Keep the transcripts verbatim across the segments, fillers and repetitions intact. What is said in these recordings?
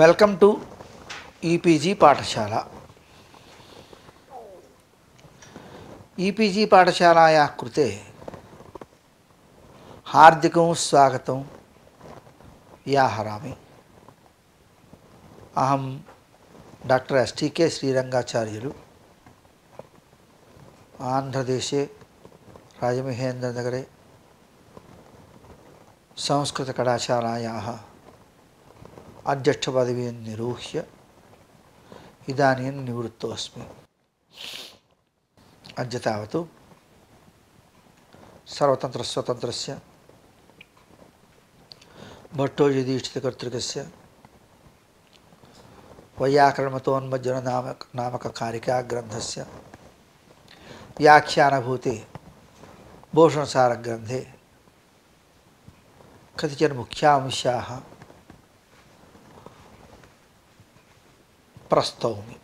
Welcome to EPG పాఠశాల EPG पाठशालायाः कृते हार्दिकं स्वागतं व्याहरामि। अहं डॉक्टर एस टी के श्रीरंगाचार्युलु आंध्रदेशे राजमहेन्द्रनगरे संस्कृतकलाशालायाः अध्यक्षपदवीं निरूह्य इदानीं निवृत्तोऽस्मि। अद्य तावत् सर्वतन्त्रस्वतन्त्रस्य भट्टोजीदीक्षितकर्तृकस्य वैयाकरणमतोन्मज्जन नामक नामककारिकाग्रन्थस्य व्याख्यानभूते भूषणसारग्रन्थे कतिचन मुख्यांशाः प्रस्तौमि।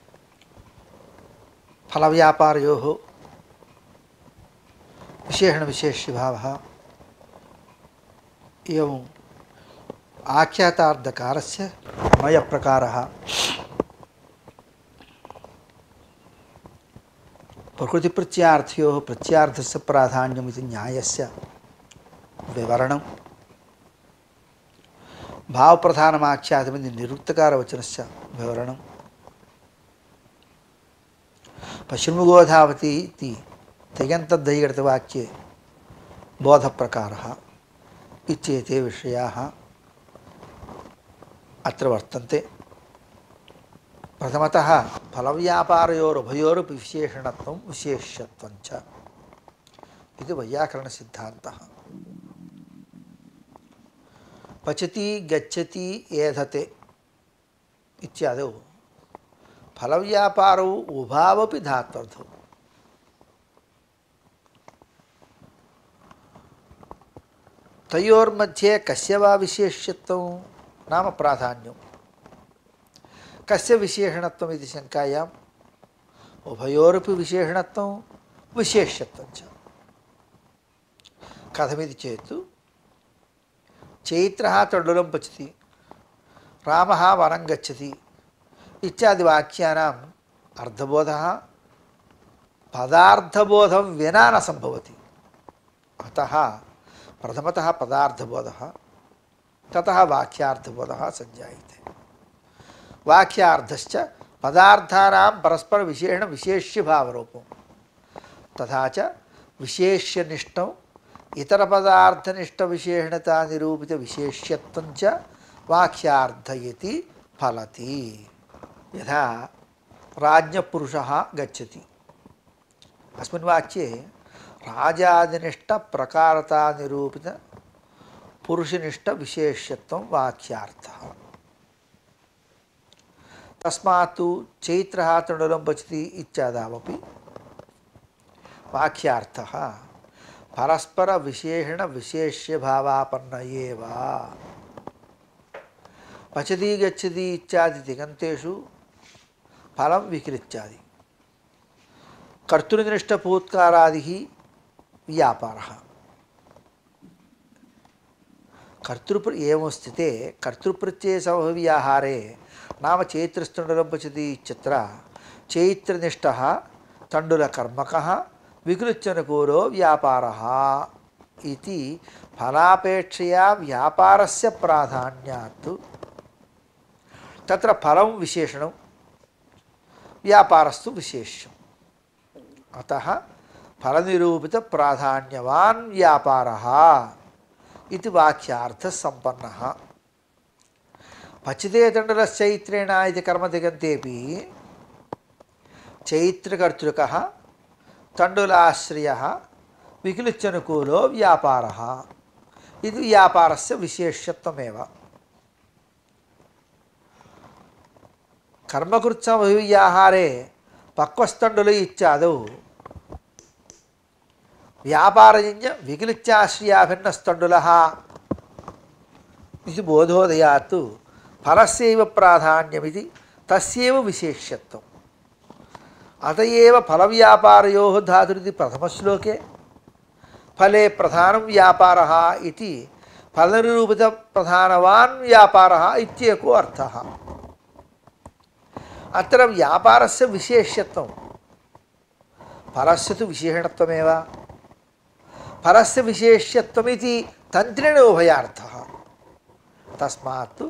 फलव्यापारयोः विशेषणविशेष्यभावः एवं आख्यातार्थकारस्य मयप्रकारः प्रकृतिप्रत्यार्थयोः प्रत्यार्थस्य प्राधान्यमिति न्यायस्य विवरणं भावप्रधानमाख्यातमिति निरुक्तकारवचनस्य विवरणं पश्चिमगोधावती इति तिङन्तद्धैगतवाक्ये बोधप्रकारः इत्येते विषयाः अत्र वर्तन्ते। प्रथमतः फलव्यापारयोरुभयोरपि विशेषणत्वं विशेष्यत्वं च इति वैयाकरणसिद्धान्तः। पचति गच्छति एधते इत्यादौ फलव्यापारौ उभावपि धात्वर्थौ। तयोर्मध्ये कस्य वा विशेष्यत्वं नाम प्राधान्यं, कस्य विशेषणत्वम् इति शङ्कायाम् उभयोरपि विशेषणत्वं विशेष्यत्वं च। कथमिति चेत् चैत्रः तण्डुलं पचति, रामः वनं गच्छति इत्यादि वाक्यानाम् अर्थबोधः पदार्थबोधं विना न सम्भवति। अतः प्रथमतः पदार्थबोधः, ततः वाक्यार्थबोधः सञ्जायते। वाक्यार्थश्च पदार्थानां परस्परविशेषणविशेष्यभावरूपं तथा च विशेष्यनिष्ठं इतरपदार्थनिष्ठविशेषणतानिरूपितविशेष्यत्वं च वाक्यार्थ इति फलति। यथा राज्ञपुरुषः गच्छति, अस्मिन् वाक्ये राजादिनिष्ठप्रकारतानिरूपितपुरुषनिष्ठविशेष्यत्वं वाक्यार्थः। तस्मात् चैत्रः तण्डुलं पचति इत्यादावपि वाक्यार्थः परस्परविशेषणविशेष्यभावापन्न एव। पचति गच्छति इत्यादि तिङन्तेषु फलं विकृत्यादि, कर्तृनिष्ठभूत्कारादिः व्यापारः। कर्तृप्र एवं स्थिते कर्तृप्रत्ययसमव्याहारे नाम चैत्रस्तण्डुलं पचति इत्यत्र चैत्रनिष्ठः तण्डुलकर्मकः विकृत्यनुकूलो व्यापारः इति फलापेक्षया व्यापारस्य प्राधान्यात् तत्र फलं विशेषणं व्यापारस्तु विशेष्यम्। अतः फलनिरूपितप्राधान्यवान् व्यापारः इति वाक्यार्थः सम्पन्नः। पचते तण्डुलश्चैत्रेण इति कर्मतिङन्तेऽपि चैत्रकर्तृकः तण्डुलाश्रयः विक्लिच्यनुकूलो व्यापारः इति व्यापारस्य विशेष्यत्वमेव। कर्मकृत्समव्याहारे पक्वस्तण्डुल इत्यादौ व्यापारजन्य विक्लित्याश्रयाभिन्नस्तण्डुलः इति बोधोदयात् फलस्यैव प्राधान्यमिति तस्यैव विशेष्यत्वम्। अत एव फलव्यापारयोः धातुरिति प्रथमश्लोके फले प्रधानं व्यापारः इति फलनिरूपित प्रधानवान् व्यापारः इत्येको अर्थः। अत्र व्यापारस्य विशेष्यत्वं परस्य तु विशेषणत्वमेव परस्य विशेष्यत्वमिति तन्त्रेण उभयार्थः तस्मात्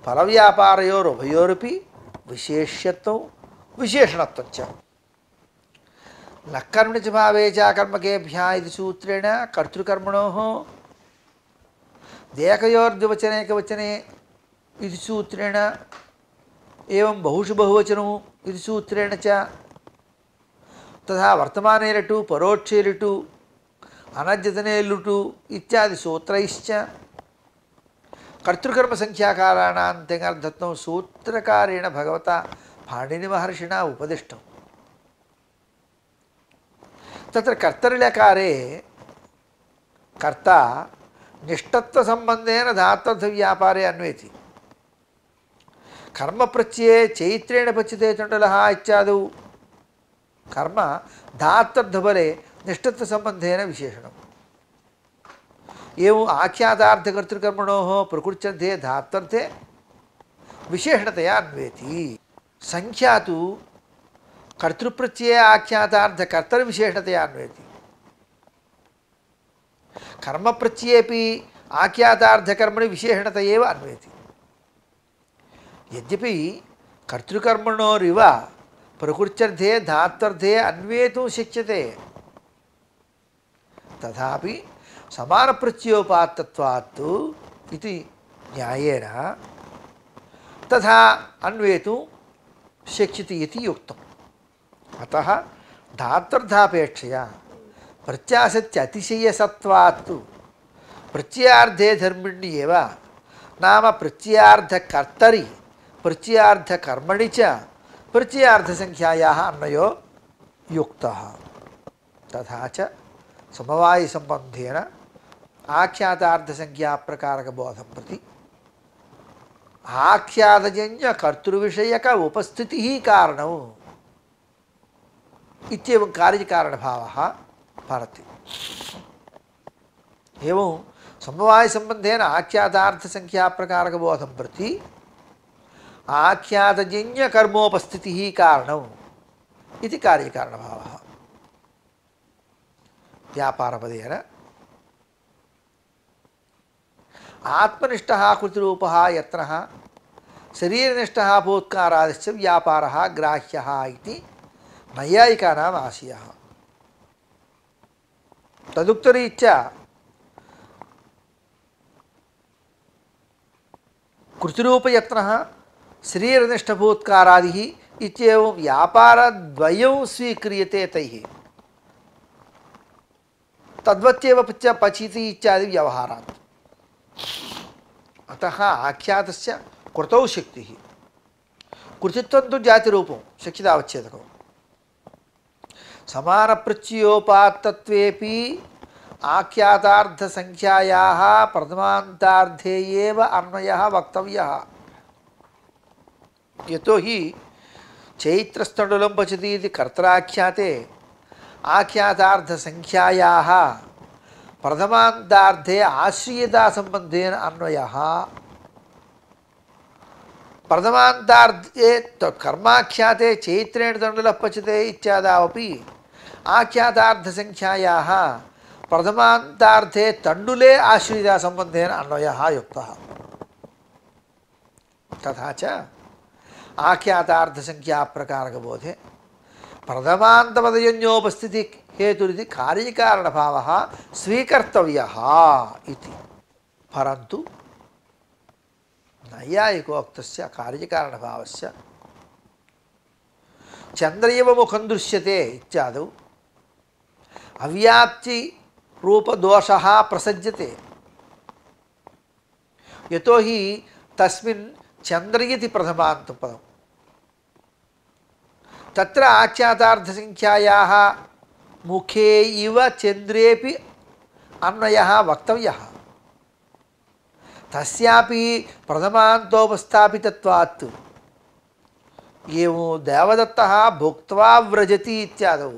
फलव्यापारयोरुभयोरपि विशेष्यत्वं विशेषणत्वं च न कर्मणि च भावे च कर्मकेभ्यः इति सूत्रेण कर्तृकर्मणोः देयकयोर्द्विवचने एकवचने इति सूत्रेण एवं बहुषु बहुवचनौ इति सूत्रेण च तथा वर्तमाने लटु परोक्षे लटु अनद्यतने लुटु इत्यादि सूत्रैश्च कर्तृकर्म संख्याकाराणां तेङर्थत्वं सूत्रकारेण भगवता पाणिनिमहर्षिणा उपदिष्टम् तत्र कर्तरिलकारे कर्ता निष्ठत्वसम्बन्धेन धात्वर्थव्यापारे अन्वेति कर्मप्रत्यये चैत्रेण पच्यते चण्डलः इत्यादौ कर्म धात्वर्थबले निष्ठत्वसम्बन्धेन विशेषणम् एवम् आख्यातार्थकर्तृकर्मणोः प्रकृत्यर्थे धात्वर्थे विशेषणतया अन्वेति संख्या तु कर्तृप्रत्यये आख्यातार्थकर्तृविशेषणतया अन्वेति कर्मप्रत्ययेपि आख्यातार्थकर्मणि विशेषणत एव अन्वेति यद्यपि कर्तृकर्मणोरिव प्रकृत्यर्थे धात्वर्थे अन्वेतुं शक्यते तथापि समानप्रत्ययोपात्तत्वात् इति न्यायेन तथा अन्वेतुं शक्यते इति युक्तम् अतः धात्वर्थापेक्षया प्रत्यासत्यतिशयसत्वात् प्रत्ययार्धे धर्मिणि एव नाम प्रत्ययार्धकर्तरि प्रत्ययार्धकर्मणि च प्रत्ययार्धसंख्यायाः अन्वयो युक्तः तथा च समवायसम्बन्धेन आख्यातार्थसंख्याप्रकारकबोधं प्रति आख्यातजन्य कर्तृविषयक उपस्थितिः कारणम् इत्येवं कार्यकारणभावः भवति एवं समवायसम्बन्धेन आख्यातार्थसंख्याप्रकारकबोधं प्रति आख्यातजन्यकर्मोपस्थितिः कारणम् इति कार्यकारणभावः व्यापारपदेन आत्मनिष्ठः कृतिरूपः यत्नः शरीरनिष्ठः भूत्कारादिश्च व्यापारः ग्राह्यः इति नैयायिकानाम् आशयः तदुक्तरीत्या कृतिरूपयत्नः शरीरनिष्ठभूत्कारादिः इत्येवं व्यापारद्वयं स्वीक्रियते तैः तद्वत्येव च पचिति इत्यादि व्यवहारात् अतः आख्यातस्य कृतौ शक्तिः कृतित्वं तु जातिरूपं शक्यतावच्छेदकं समानप्रत्ययोपात्तत्वेपि आख्यातार्थसंख्यायाः प्रथमान्तार्धे एव अन्वयः वक्तव्यः यतोहि चैत्रस्तण्डुलं पचति इति कर्तराख्याते आख्यातार्थसंख्यायाः प्रथमान्तार्धे आश्रियतासम्बन्धेन अन्वयः प्रथमान्तार्धे कर्माख्याते चैत्रेण तण्डुलः पचते इत्यादावपि आख्यातार्थसंख्यायाः प्रथमान्तार्धे तण्डुले आश्रियतासम्बन्धेन अन्वयः युक्तः तथा च आख्यातार्थसंख्याप्रकारकबोधे प्रथमान्तपदजन्योपस्थिति हेतुरिति कार्यकारणभावः स्वीकर्तव्यः इति परन्तु नैयायिकोक्तस्य कार्यकारणभावस्य चन्द्रैव मुखं दृश्यते इत्यादौ अव्याप्तिरूपदोषः प्रसज्यते यतोहि तस्मिन् चन्द्र इति प्रथमान्तपदम् तत्र आख्यातार्थसंख्यायाः मुखे इव चन्द्रेपि अन्वयः वक्तव्यः तस्यापि प्रथमान्तोपस्थापितत्वात् एवं देवदत्तः भुक्त्वा व्रजति इत्यादौ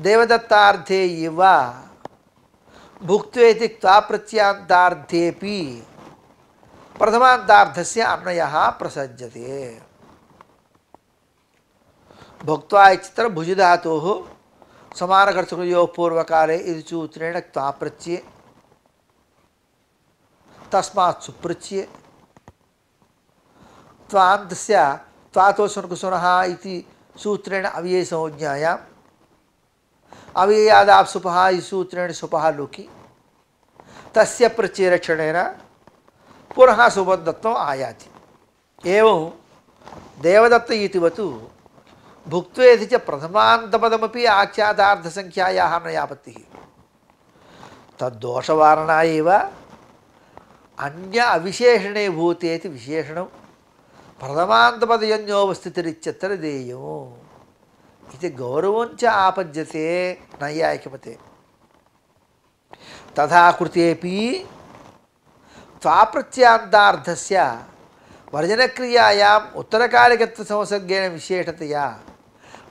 देवदत्तार्थे इव भुक्त्वेति क्त्वाप्रत्यान्तार्थेपि प्रथमान्तार्थस्य अन्वयः प्रसज्यते भुक्त्वा इत्यत्र भुजधातोः समानकर्तृकयोः पूर्वकाले इति सूत्रेण क्त्वा प्रत्यये तस्मात् सुप्रत्यये त्वान्तस्य त्वातोस्वनकुसुनः इति सूत्रेण अव्ययसंज्ञायाम् अव्ययादाप्सुपः इति सूत्रेण सुपः लुकि तस्य प्रत्ययरक्षणेन पुनः सुबन्धत्वम् आयाति। एवं देवदत्त इतिवत् भुक्त्वेति च प्रथमान्तपदमपि आख्यातार्थसङ्ख्यायाः नयापत्तिः तद्दोषवारणा एव अन्य अविशेषणे भूतेति विशेषणं प्रथमान्तपदयोनिवस्थितिरित्यत्र देयम् इति गौरवञ्च आपद्यते नैयायिकमते। तथा कृतेपि त्वाप्रत्यान्तार्थस्य वर्जनक्रियायाम् उत्तरकालिकत्वसंसर्गेण विशेषतया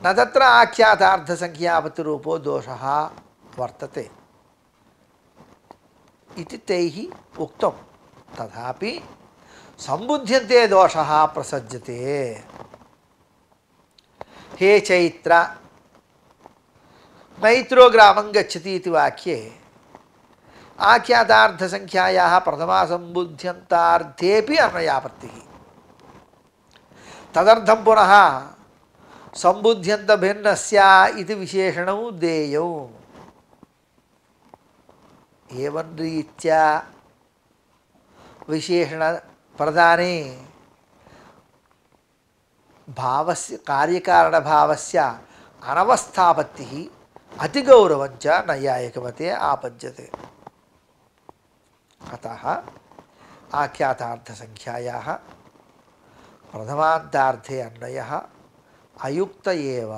न तत्र आख्यातार्थसंख्यापतिरूपो दोषः वर्तते इति तैः उक्तं। तथापि सम्बुध्यन्ते दोषः प्रसज्यते। हे चैत्र मैत्रो ग्रामं गच्छति इति वाक्ये आख्यातार्थसंख्यायाः प्रथमासम्बुध्यन्तार्थेऽपि अन्वयापत्तिः तदर्थं पुनः सम्बुध्यन्तभिन्नस्य इति विशेषणं देयम्। एवं रीत्या विशेषण प्रदाने भावस्य कार्यकारणभावस्य अनवस्थापत्तिः अतिगौरवञ्च नैयायिकमते आपद्यते। अतः आख्यातार्थसंख्यायाः प्रथमान्तार्थे अन्वयः अयुक्त एव।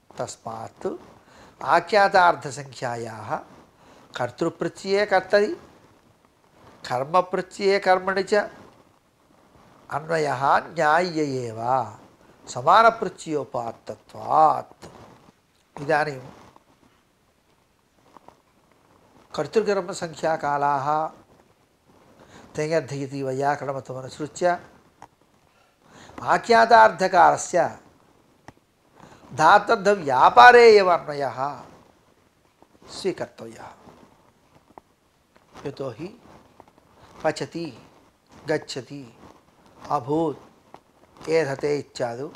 तस्मात् आख्यातार्थसंख्यायाः कर्तृप्रत्यये कर्तरि कर्मप्रत्यये कर्मणि च अन्वयः न्याय्य एव समानप्रत्ययोपात्तत्वात्। इदानीं कर्तृकर्मसंख्याकालाः तेङ्गर्धयति वैयाकरणमतमनुसृत्य आख्यातार्थकारस्य धातर्थव्यापारे एव अन्वयः स्वीकर्तव्यः। यतो हि पचति गच्छति अभूत् एधते इत्यादि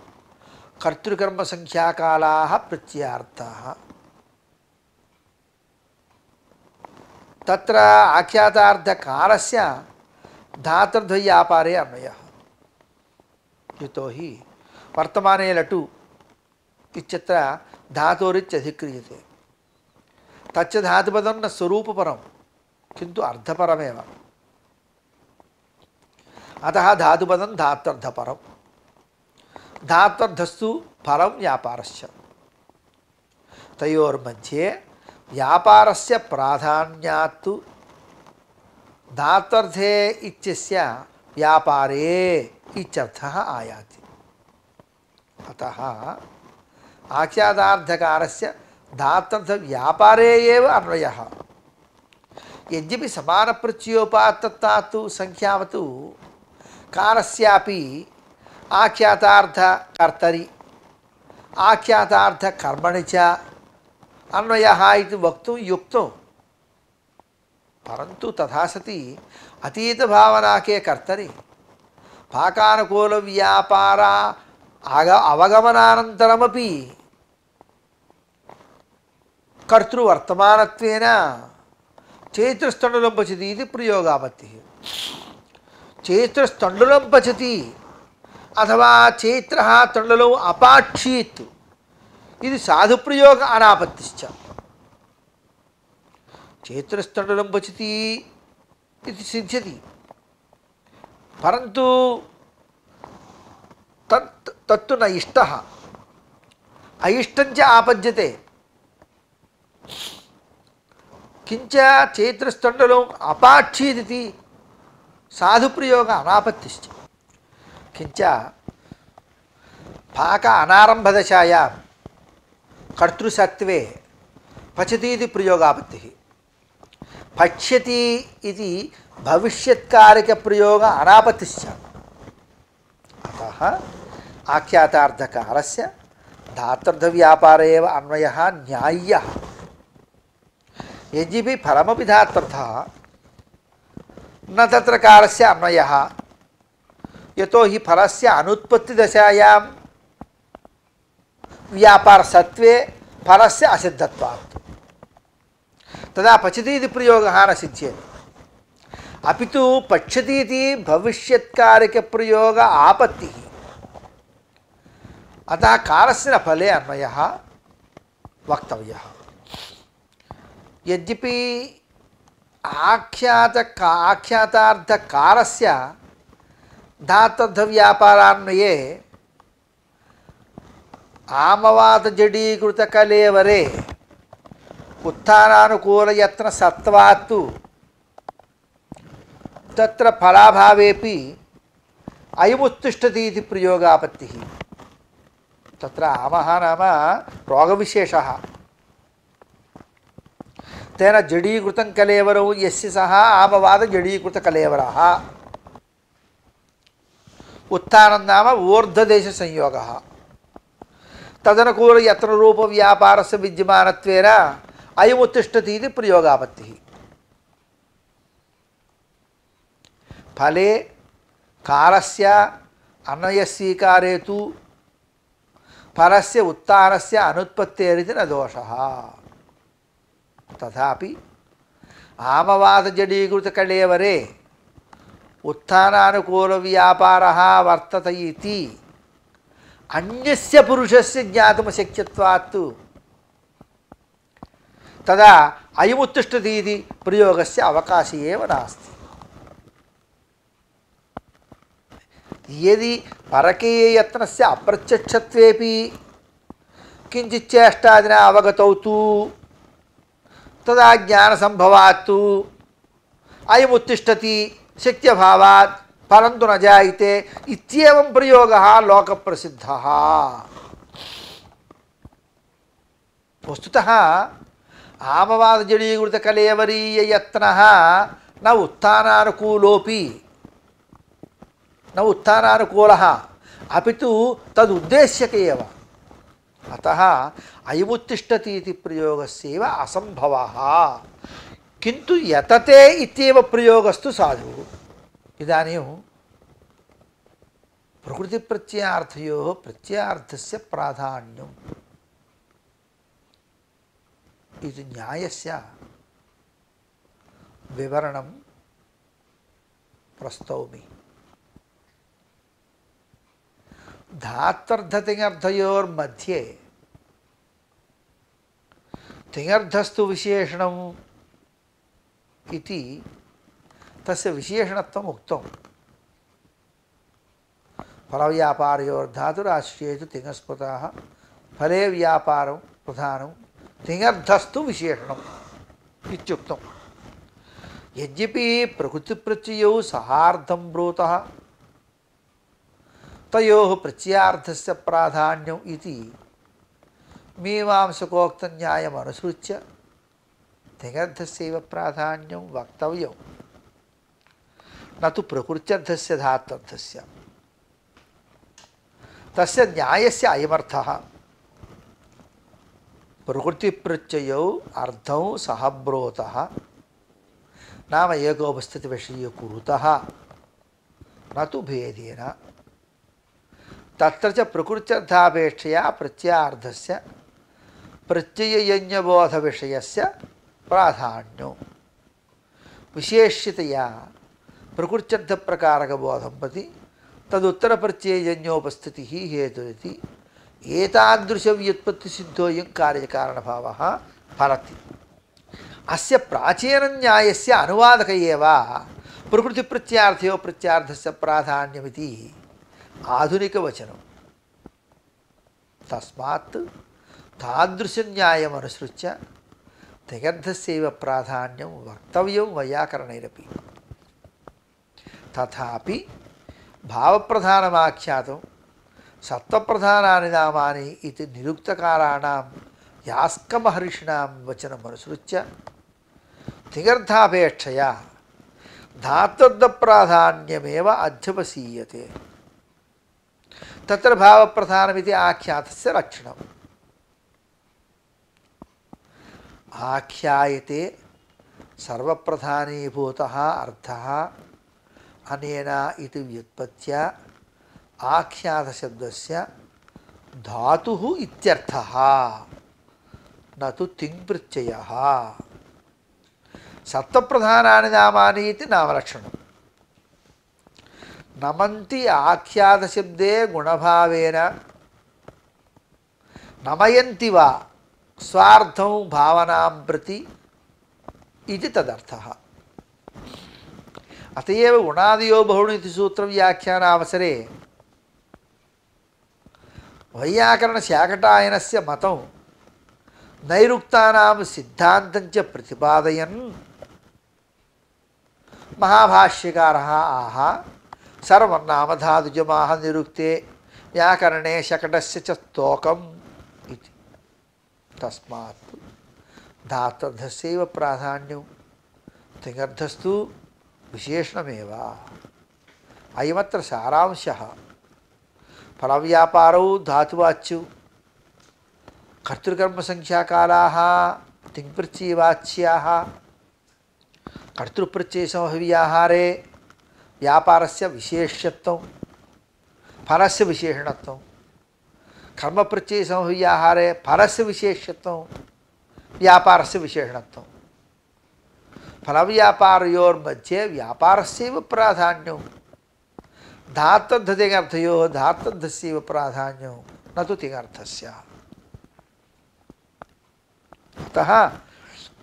कर्तृकर्मसंख्याकालाः प्रत्ययार्थाः। तत्र आख्यातार्थकारस्य धातुर्द्वयव्यापारे अन्वयः। यतो हि वर्तमाने लटु इत्यत्र धातोरित्यधिक्रियते तच्च धातुपदं न स्वरूपपरं किन्तु अर्थपरमेव। अतः धातुपदं धात्वर्थपरं धात्वर्थस्तु परं व्यापारस्य। तयोर्मध्ये व्यापारस्य प्राधान्यात् धात्वर्थे इत्यस्य व्यापारे इत्यर्थः आयाति। अतः आख्यातार्थकारस्य धात्वर्थव्यापारे एव अन्वयः। यद्यपि समानप्रत्ययोपात्तत्वात् संख्यावत् कारस्यापि आख्यातार्थकर्तरि आख्यातार्थकर्मणि च अन्वयः इति वक्तुं युक्तो, परन्तु तथा सति अतीतभावनाके कर्तरि पाकानुकूलव्यापार आग अवगमनानन्तरमपि कर्तृवर्तमानत्वेन चैत्रस्तण्डुलं पचति इति प्रयोगापत्तिः। चैत्रस्तण्डुलं पचति अथवा चैत्रः तण्डुलम् अपाक्षीत् इति साधुप्रयोग अनापत्तिश्च। चैत्रस्तण्डुलं पचति इति सिद्ध्यति, परन्तु तत् तत्तु न इष्टः, अइष्टञ्च आपद्यते। किञ्च चैत्रस्तण्डुलम् अपाक्षीदिति साधुप्रयोग अनापत्तिश्च। किञ्च पाक अनारम्भदशायां कर्तृसत्त्वे पचति इति प्रयोगापत्तिः। पच्यति इति भविष्यत्कारकप्रयोग अनापत्तिश्च। अतः आख्यातार्थकारस्य धातृर्धव्यापार एव अन्वयः न्याय्यः। यद्यपि फलमपि धातृर्थः न तत्र कारस्य अन्वयः, यतो हि फलस्य अनुत्पत्तिदशायां व्यापारसत्त्वे फलस्य असिद्धत्वात् तदा पचति इति प्रयोगः न सिद्ध्येत्। अपि तु पच्यति इति भविष्यत्कारकप्रयोग आपत्तिः, अतः कारस्य फले अन्वयः वक्तव्यः। यद्यपि आख्यात आख्यातार्थकारस्य धातुर्धव्यापारान्वये आमवादजडीकृतकलेवरे उत्थानानुकूलयत्नसत्त्वात्तु तत्र फलाभावेपि अयमुत्तिष्ठति इति प्रयोगापत्तिः। तत्र आमः नाम रोगविशेषः, तेन जडीकृतं कलेवरौ यस्य सः आमवादजडीकृतकलेवरः। उत्थानं नाम ऊर्ध्वदेशसंयोगः, तदनुकूलयत्नरूपव्यापारस्य विद्यमानत्वेन अयमुत्तिष्ठति इति प्रयोगापत्तिः। फले कारस्य अन्वयस्वीकारे तु फलस्य उत्थानस्य अनुत्पत्तेरिति न दोषः। तथापि आमवादजडीकृतकलेवरे उत्थानानुकूलव्यापारः वर्तते इति अन्यस्य पुरुषस्य ज्ञातुमशक्यत्वात् तदा अयमुत्तिष्ठति इति प्रयोगस्य अवकाशः एव नास्ति। यदि परकीययत्नस्य अप्रत्यक्षत्वेपि किञ्चित् चेष्टादिना अवगतौ तु तदा ज्ञानसम्भवात् अयमुत्तिष्ठति शक्त्यभावात् फलं तु न जायते इत्येवं प्रयोगः लोकप्रसिद्धः। वस्तुतः आमवादजडीकृतकलेवरीययत्नः न उत्थानानुकूलोऽपि न उत्थानानुकूलः, अपि तु तदुद्देश्यक एव। अतः अयमुत्तिष्ठति इति प्रयोगस्यैव असम्भवः। किन्तु यतते इत्येव प्रयोगस्तु साधु। इदानीं प्रकृतिप्रत्ययार्थयोः प्रत्ययार्थस्य प्राधान्यम् इति न्यायस्य विवरणं प्रस्तौमि। धात्वर्थतिङर्थयोर्मध्ये तिङर्थस्तु विशेषणम् इति तस्य विशेषणत्वम् उक्तम्। फलव्यापारयोर्धातुराश्रयेषु तिङस्पृतः फले व्यापारं प्रधानं तिङर्थस्तु विशेषणम् इत्युक्तम्। यद्यपि प्रकृतिप्रत्ययौ सहार्धं ब्रूतः तयोः प्रत्ययार्थस्य प्राधान्यम् इति मीमांसकोक्तन्यायमनुसृत्य तिङर्थस्यैव प्राधान्यं वक्तव्यं, न तु प्रकृत्यर्थस्य धात्वर्थस्य। तस्य न्यायस्य अयमर्थः। प्रकृतिप्रत्ययौ अर्धौ सहब्रोतः नाम एकोपस्थितिविषये कुरुतः, न तु भेदेन। तत्र च प्रकृत्यर्थापेक्षया प्रत्ययार्थस्य प्रत्ययजन्यबोधविषयस्य प्राधान्यो विशेष्यतया प्रकृत्यर्थप्रकारकबोधं प्रति तदुत्तरप्रत्ययजन्योपस्थितिः हेतुरिति एतादृशव्युत्पत्तिसिद्धोऽयं कार्यकारणभावः फलति। अस्य प्राचीनन्यायस्य अनुवादक एव प्रकृतिप्रत्ययार्थयो प्रत्ययार्थस्य प्राधान्यमिति आधुनिकवचनं। तस्मात् तादृशन्यायमनुसृत्य तिङर्थस्यैव प्राधान्यं वक्तव्यं वैयाकरणैरपि। तथापि भावप्रधानमाख्यातं सत्त्वप्रधानानि नामानि इति निरुक्तकाराणां यास्कमहर्षिणां वचनमनुसृत्य तिङर्थापेक्षया धात्वर्थप्राधान्यमेव अध्यवसीयते। तत्र भावप्रधानमिति आख्यातस्य लक्षणम्। आख्यायते सर्वप्रधानीभूतः अर्थः अनेन इति व्युत्पत्त्या आख्यातशब्दस्य धातुः इत्यर्थः न तु तिङ्प्रत्ययः। सत्त्वप्रधानानि नामानि इति नामलक्षणम्। नमन्ति आख्यातशब्दे गुणभावेन नमयन्ति वा स्वार्थं भावनां प्रति इति तदर्थः। अत एव गुणादयो बहुनि इति सूत्रव्याख्यानावसरे वैयाकरणशाकटायनस्य मतं नैरुक्तानां सिद्धान्तं च प्रतिपादयन् महाभाष्यकारः आह सर्वनामधातुजमाह निरुक्ते व्याकरणे शकटस्य च स्तोकम् इति। तस्मात् धातुर्धस्यैव प्राधान्यं तिङर्थस्तु विशेषणमेव। अयमत्र सारांशः। फलव्यापारौ धातुवाच्यौ कर्तृकर्मसंख्याकालाः तिङ्प्रत्ययवाच्याः कर्तृप्रत्ययसमव्याहारे व्यापारस्य विशेष्यत्वं फलस्य विशेषणत्वं कर्मप्रत्ययसमव्याहारे फलस्य विशेष्यत्वं व्यापारस्य विशेषणत्वं फलव्यापारयोर्मध्ये व्यापारस्यैव प्राधान्यं धातुर्धतिङर्थयोः धातुर्धस्यैव प्राधान्यं न तु तिङर्थस्य। अतः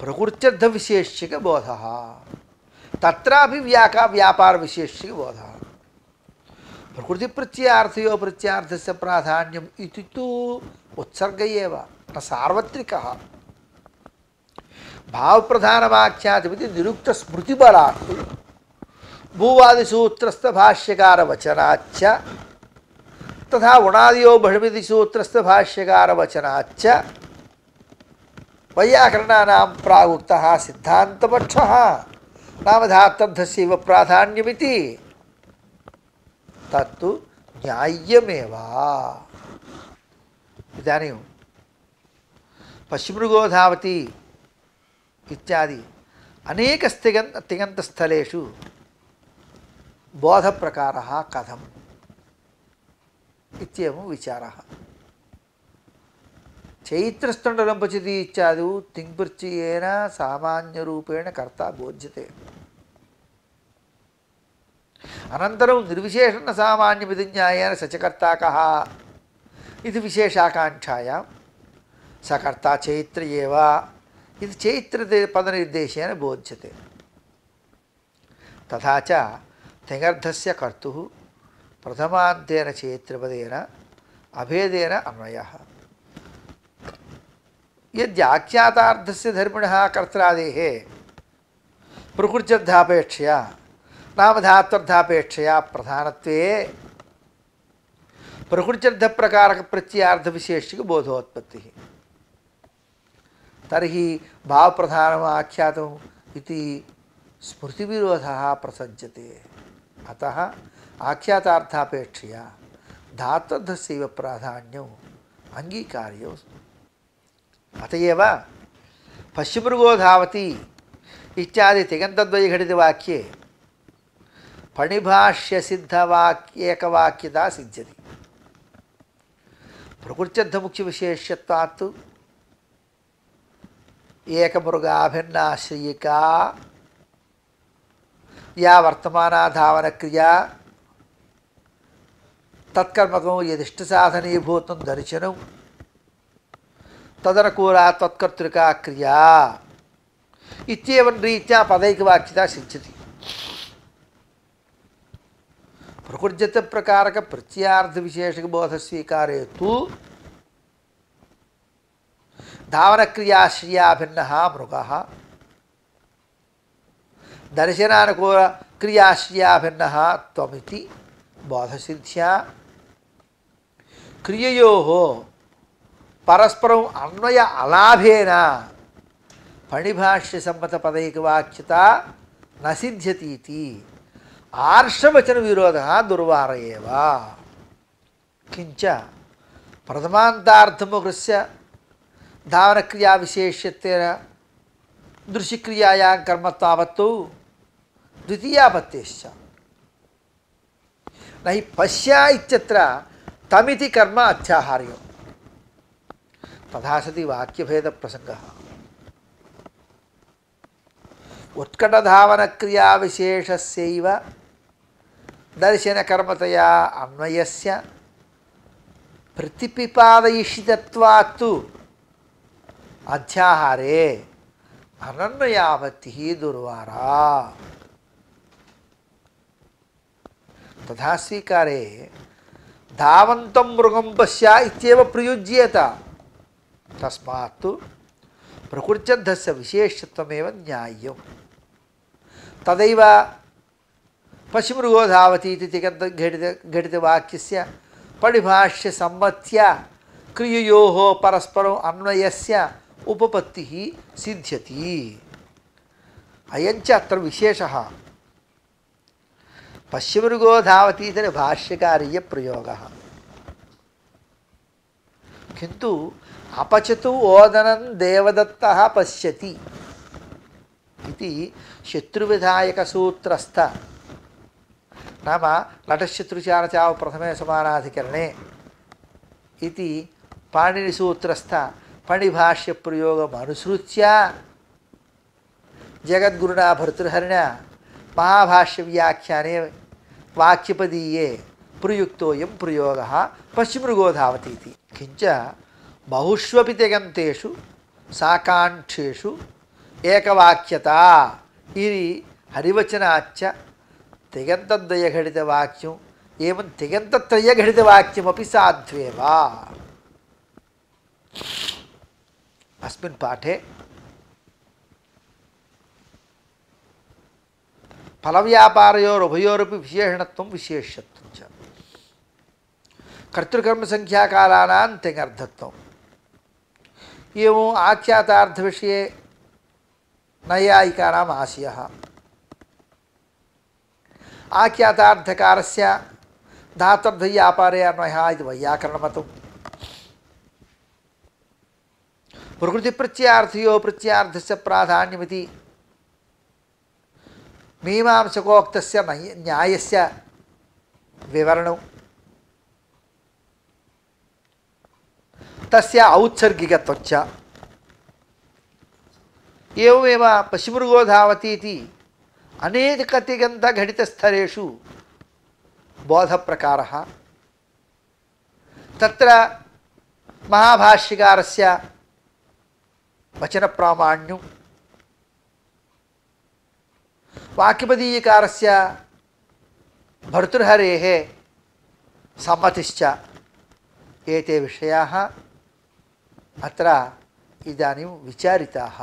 प्रकृत्यर्थविशेष्यकबोधः तत्रापि व्याका व्यापारविशेष्यकबोधः। प्रकृतिप्रत्ययार्थयो प्रत्यार्थस्य प्राधान्यम् इति तु उत्सर्ग एव न सार्वत्रिकः। भावप्रधानमाख्यातमिति निरुक्तस्मृतिबलात् भूवादिसूत्रस्थभाष्यकारवचनाच्च तथा गुणादयो बहिमिति सूत्रस्थभाष्यकारवचनाच्च वैयाकरणानां प्रागुक्तः सिद्धान्तपक्षः नाम धातुर्धस्यैव प्राधान्यमिति तत्तु न्याय्यमेव। इदानीं पश्चिमृगोधावती इत्यादि अनेक तिङन्त तिङन्तस्थलेषु बोधप्रकारः कथम् इत्येवं विचारः। चैत्रस्तण्डलं पचति इत्यादौ तिङ्प्रत्ययेन सामान्यरूपेण कर्ता बोध्यते। अनन्तरं निर्विशेषणसामान्यमिति न्यायेन स च कर्ता कः इति विशेषाकाङ्क्षायां स कर्ता चैत्र एव इति चैत्रपदनिर्देशेन बोध्यते। तथा च तिङर्थस्य कर्तुः प्रथमान्तेन चैत्रपदेन अभेदेन अन्वयः। यद्याख्यातार्थस्य धर्मिणः कर्त्रादेः प्रकृत्यर्थापेक्षया नाम धात्वर्थापेक्षया प्रधानत्वे प्रकृत्यर्थप्रकारकप्रत्ययार्थविशेषिकबोधोत्पत्तिः तर्हि भावप्रधानम् आख्यातम् इति स्मृतिविरोधः प्रसज्यते। अतः आख्यातार्थापेक्षया धात्वर्थस्यैव प्राधान्यम् अङ्गीकार्यो। अत एव पश्चिमृगोधावती इत्यादि तिङन्तद्वयघटितवाक्ये फणिभाष्यसिद्धवाक्येकवाक्यता सिद्ध्यति। प्रकृत्यर्थमुख्यविशेष्यत्वात् एकमृगाभिन्नाश्रयिका या वर्तमाना धावनक्रिया तत्कर्मकं यदिष्टसाधनीभूतं दर्शनं तदनुकूला तत्कर्तृका क्रिया इत्येवं रीत्या पदैकवाक्यता सिद्ध्यति। प्रकृत्यर्थप्रकारकप्रत्ययार्थविशेषकबोधस्वीकारे तु धावनक्रियाश्रिया भिन्नः मृगः दर्शनानुकूलक्रियाश्रिया भिन्नः त्वमिति बोधसिद्ध्या क्रिययोः परस्परम् अन्वय अलाभेन फणिभाष्यसम्मतपदैकवाक्यता न सिद्ध्यतीति आर्षवचनविरोधः दुर्वार एव। किंच प्रथमान्तार्थमुखस्य धावनक्रियाविशेष्यत्वेन दृश्यक्रियायां कर्मत्वावत्तौ द्वितीयापत्तेश्च न हि पश्य इत्यत्र तमिति कर्म अध्याहार्यो तथा सति वाक्यभेदप्रसङ्गः उत्कटधावनक्रियाविशेषस्यैव दर्शनकर्मतया अन्वयस्य प्रतिपिपादयिषितत्वात्तु अध्याहारे अनन्वयापत्तिः दुर्वारा तथा स्वीकारे धावन्तं मृगं पश्य इत्येव प्रयुज्येत तस्मात्तु प्रकृत्यर्थस्य विशेषत्वमेव न्याय्यं तदैव पश्यमृगो धावति इति तिङन्तघटित घटितवाक्यस्य परिभाष्यसम्मत्या क्रिययोः परस्परम् अन्वयस्य उपपत्तिः सिद्ध्यति अयञ्च अत्र विशेषः पश्यमृगो धावति इति भाष्यकारीयप्रयोगः किन्तु अपचतु ओदनं देवदत्तः पश्यति इति शत्रुविधायकसूत्रस्थ नाम लटशत्रुचारचाव प्रथमे समानाधिकरणे इति पाणिनिसूत्रस्थ पणिभाष्यप्रयोगमनुसृत्य जगद्गुरुणा भर्तृहरिणा महाभाष्यव्याख्याने वाक्यपदीये प्रयुक्तोऽयं प्रयोगः पश्यमृगो धावति इति किञ्च बहुष्वपि तिङन्तेषु साकाङ्क्षेषु एकवाक्यता इति हरिवचनाच्च तिङन्तद्वयघटितवाक्यम् एवं तिङन्तत्रयघटितवाक्यमपि साध्वेव अस्मिन् पाठे फलव्यापारयोरुभयोरपि विशेषणत्वं विशेष्यत्वं च कर्तृकर्मसंख्याकालानां तिङर्थत्वम् एवम् आख्यातार्थविषये नैयायिकानाम् आशयः आख्यातार्थकारस्य धातुर्व्यापारे अन्वयः इति वैयाकरणमतम् प्रकृतिप्रत्ययार्थयो प्रत्ययार्थस्य प्राधान्यमिति मीमांसकोक्तस्य न्यायस्य विवरणं तस्य औत्सर्गिकत्वञ्च एवमेव पश्यमृगो धावति इति अनेकतिङन्तघटितस्थलेषु बोधप्रकारः तत्र महाभाष्यकारस्य वचनप्रामाण्यं वाक्यपदीयकारस्य भर्तृहरेः सम्मतिश्च एते विषयाः अत्र इदानीं विचारिताः।